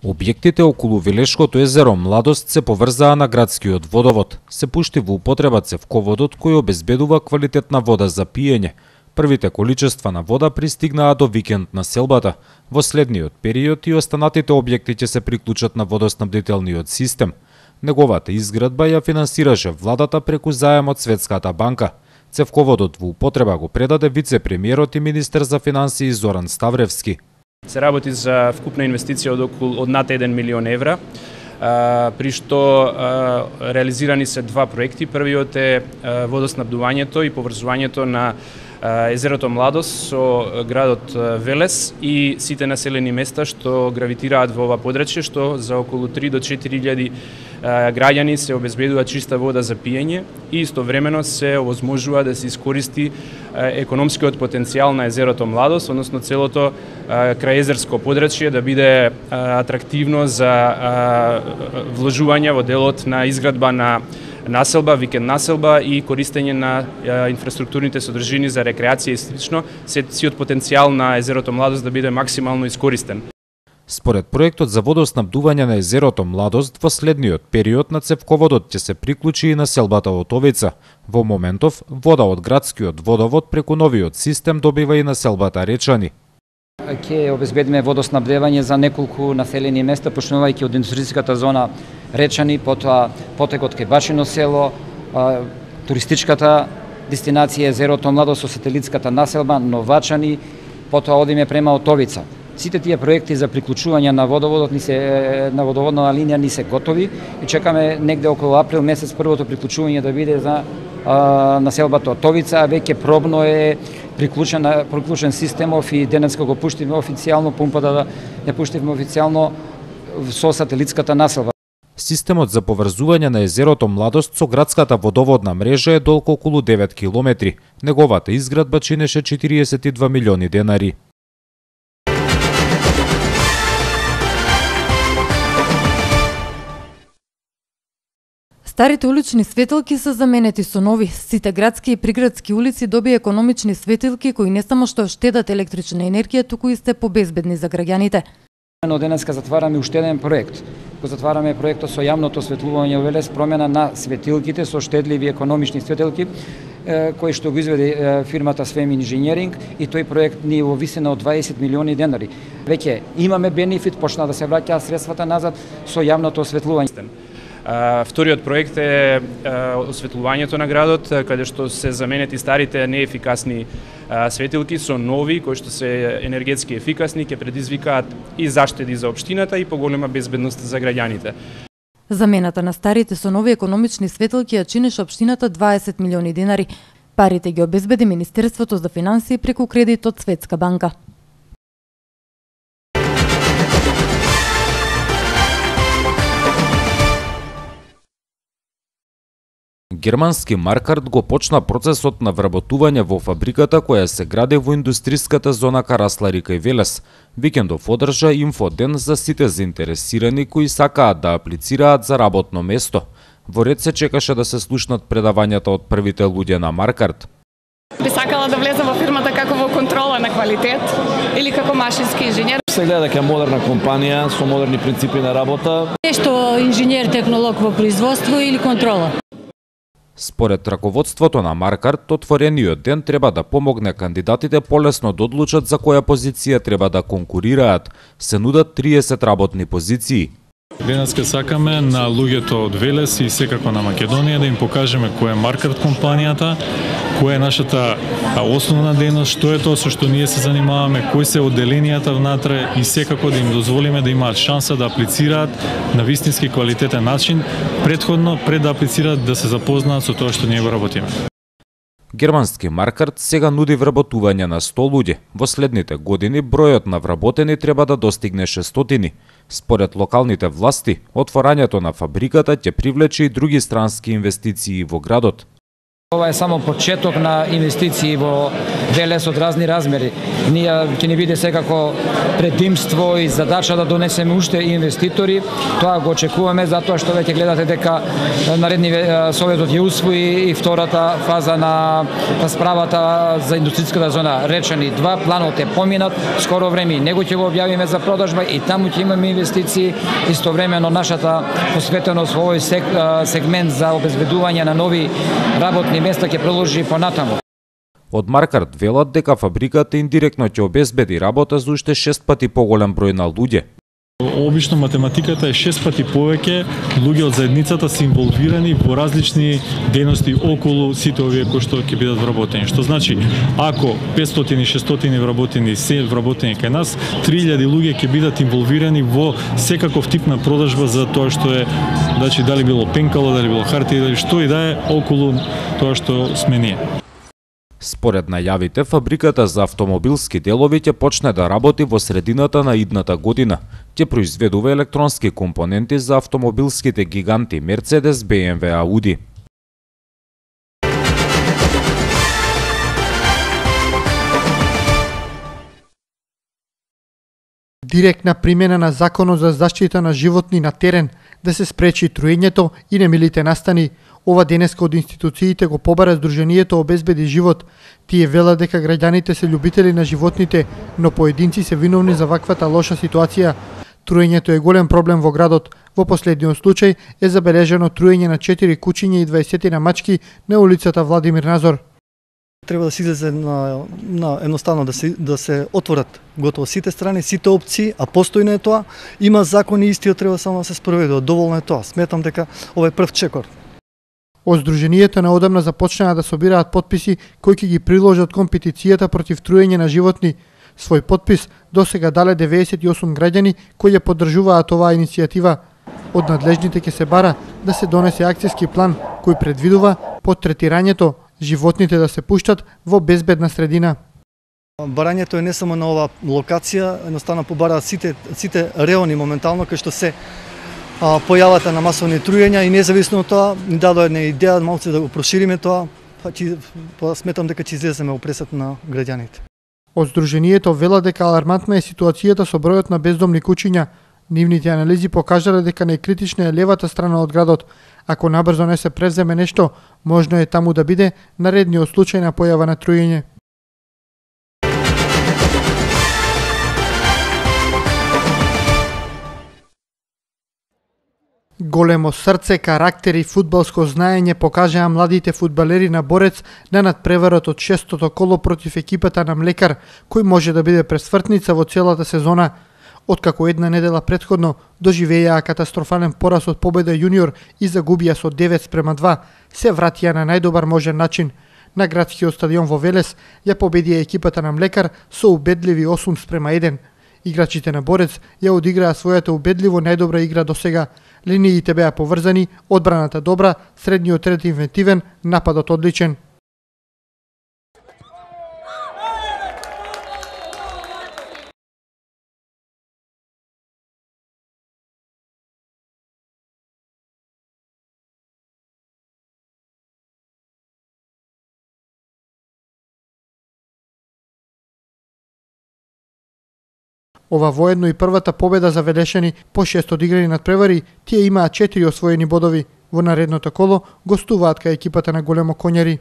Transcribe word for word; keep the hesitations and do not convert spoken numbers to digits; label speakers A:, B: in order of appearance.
A: Објектите околу Велешкото езеро Младост се поврзаа на градскиот водовод. Се пушти во употреба цевководот кој обезбедува квалитетна вода за пиење. Првите количества на вода пристигнаа до викенд на селбата. Во следниот период и останатите објекти ќе се приклучат на водоснабдителниот систем. Неговата изградба ја финансираше владата преку заем од Светската банка. Цевководот во употреба го предаде вице-премиерот и министер за финансии Зоран Ставревски.
B: Се работи за вкупна инвестиција од околу од над еден милион евра, а, при што а, реализирани се два проекти. Првиот е а, водоснабдувањето и поврзувањето на а, езерото Младост со градот Велес и сите населени места што гравитираат во ова подрачје, што за околу три до четири илјади граѓани се обезбедува чиста вода за пиење и истовремено се овозможува да се искористи економскиот потенцијал на езерото Младост, односно целото крајезерско подрачје да биде атрактивно за вложување во делот на изградба на населба, викенд населба и користење на инфраструктурните содржини за рекреација и слично, сиот потенцијал на езерото Младост да биде максимално искористен.
A: Според проектот за водоснабдување на езерото Младост, во следниот период на цевководот ќе се приклучи и населбата Отовица. Во моментов, вода од градскиот водовод преку новиот систем добива и населбата Речани.
C: Ќе обезбедиме водоснабдевање за неколку населени места, почнувајќи од индустријската зона Речани, потоа потекот кај Башино село, туристичката дестинација езерото Младост со сателитската населба Новачани, потоа одиме према Отовица. Сите тие проекти за приклучување на водоводот ни се на водоводна линија ни се готови и чекаме негде околу април месец првото приклучување да биде за а, населбата Отовица, а веќе пробно е приклучен приклучен системов и денеска го пуштивме официјално, пумпата да ја пуштивме официјално со сателитската населба.
A: Системот за поврзување на езерото Младост со градската водоводна мрежа е долго околу девет километри. Неговата изградба чинеше четириесет и два милиони денари.
D: Старите улични светилки се заменети со нови. Сите градски и приградски улици добија економични светилки кои не само што штедат електрична енергија, туку и се побезбедни за граѓаните.
C: Но денеска затвараме уште еден проект. Го затвараме проектот со јавното осветлување во Велес, промена на светилките со штедливи економични светилки, кои што го изведе фирмата Свем Инженеринг, и тој проект ни во висина од дваесет милиони денари. Веќе имаме бенефит, почна да се враќаат средствата назад со јавното осветлување.
B: Вториот проект е осветлувањето на градот, каде што се заменети старите неефикасни светилки со нови кои што се енергетски ефикасни, ќе предизвикаат и заштеди за општината и поголема безбедност за граѓаните.
D: Замената на старите со нови економични светилки ја чинеше општината дваесет милиони денари. Парите ги обезбеди Министерството за финансии преку кредит од Светска банка.
A: Германски Маркарт го почна процесот на вработување во фабриката која се гради во индустријската зона Караслари кај Велес. Викендов одржа инфоден за сите заинтересирани кои сакаат да аплицираат за работно место. Во ред се чекаше да се слушнат предавањата од првите луѓе на Маркарт.
E: Би сакала да влезам во фирмата како во контрола на квалитет или како машински инженер.
F: Се гледа дека е модерна компанија со модерни принципи на работа.
G: Нешто инженер технолог во производство или контрола.
A: Според раководството на Маркарт, отворениот ден треба да помогне кандидатите полесно да одлучат за која позиција треба да конкурираат. Се нудат триесет работни позиции.
H: Денеска сакаме на луѓето од Велес и секако на Македонија да им покажеме која е Маркарт компанијата, која е нашата основна дејност, што е тоа со што ние се занимаваме, кои се одделенијата внатре и секако да им дозволиме да имаат шанса да аплицираат на вистински квалитетен начин, претходно пред да аплицираат да се запознаат со тоа што ние го работиме.
A: Германски Маркарт сега нуди вработување на сто луѓе. Во следните години бројот на вработени треба да достигне шестстотини. Според локалните власти, отворањето на фабриката ќе привлече и други странски инвестиции во градот.
C: Ова е само почеток на инвестиции во Велес од разни размери. Ние ќе ни биде секако предимство и задача да донесеме уште инвеститори. Тоа го очекуваме затоа што веќе гледате дека наредни Советот ја усвои и втората фаза на расправата за индустријската зона Речани два. Планот е поминат, скоро време него ќе го објавиме за продажба и таму ќе имаме инвестиции. Истовремено нашата посветеност во овој сегмент за обезбедување на нови работни места ќе продолжи понатаму.
A: Од Маркарт велат дека фабриката индиректно ќе обезбеди работа за уште шест пати поголем број на луѓе.
H: Обично математиката е шест пати повеќе луѓе од заедницата се инволвирани во различни дејности околу сите овие кои што ќе бидат вработени. Што значи, ако петстотини шестстотини вработени се вработени кај нас, три илјади луѓе ќе бидат инволвирани во секаков тип на продажба за тоа што е, значи дали било пенкало, дали било хартија, дали што и да е околу тоа што сме ние.
A: Според најавите, фабриката за автомобилски делови ќе почне да работи во средината на идната година. Ќе произведува електронски компоненти за автомобилските гиганти Мерцедес, Б М В, Ауди.
I: Директна примена на Законот за заштита на животни на терен да се спречи труењето и немилите настани. Ова денеска од институциите го побара Сдруженијето Обезбеди живот. Тие велат дека граѓаните се љубители на животните, но поединци се виновни за ваквата лоша ситуација. Труењето е голем проблем во градот. Во последниот случај е забележено труење на четири кучиња и дваесет на мачки на улицата Владимир Назор.
J: Треба да се излезе на, на едноставно да се да се отворат готово сите страни, сите опции, а постојно е тоа. Има закон и истиот треба само да се спроведе. Доволно е тоа. Сметам дека ова е прв чекор.
I: Од Сдруженијето неодамна започнаа да собираат потписи кои ќе ги приложат кон петицијата против труење на животни. Свој потпис досега дале деветдесет и осум граѓани кои ја поддржуваат оваа иницијатива. Од надлежните ќе се бара да се донесе акцијски план кој предвидува под третирањето животните да се пуштат во безбедна средина.
J: Барањето е не само на оваа локација, едноставно побараат сите сите реони моментално кај што се а, појавата на масовни труења и независно од тоа ни дадоа една идеја малку да го прошириме тоа, па ќе па сметам дека ќе излеземе во пресет на граѓаните.
I: Од Сдруженијето вела дека алармантна е ситуацијата со бројот на бездомни кучиња. Нивните анализи покажале дека најкритична е левата страна од градот. Ако набрзо не се превземе нешто, можно е таму да биде наредниот случај на појава на труење. Големо срце, карактер и фудбалско знаење покажаа младите фудбалери на Борец на надпреварот од шестото коло против екипата на Млекар, кој може да биде пресвртница во целата сезона. Откако една недела претходно доживеаа катастрофален пораз од Победа јуниор и загубија со девет спрема два, се вратија на најдобар можен начин. На градскиот стадион во Велес ја победија екипата на Млекар со убедливи осум спрема еден. Играчите на Борец ја одиграа својата убедливо најдобра игра досега. Линиите беа поврзани, одбраната добра, средниот ред инвентивен, нападот одличен. Ова воедно и првата победа за Велешани по шест одиграни надпревари, тие имаат четири освоени бодови. Во наредното коло гостуваат кај екипата на Големо Коњари.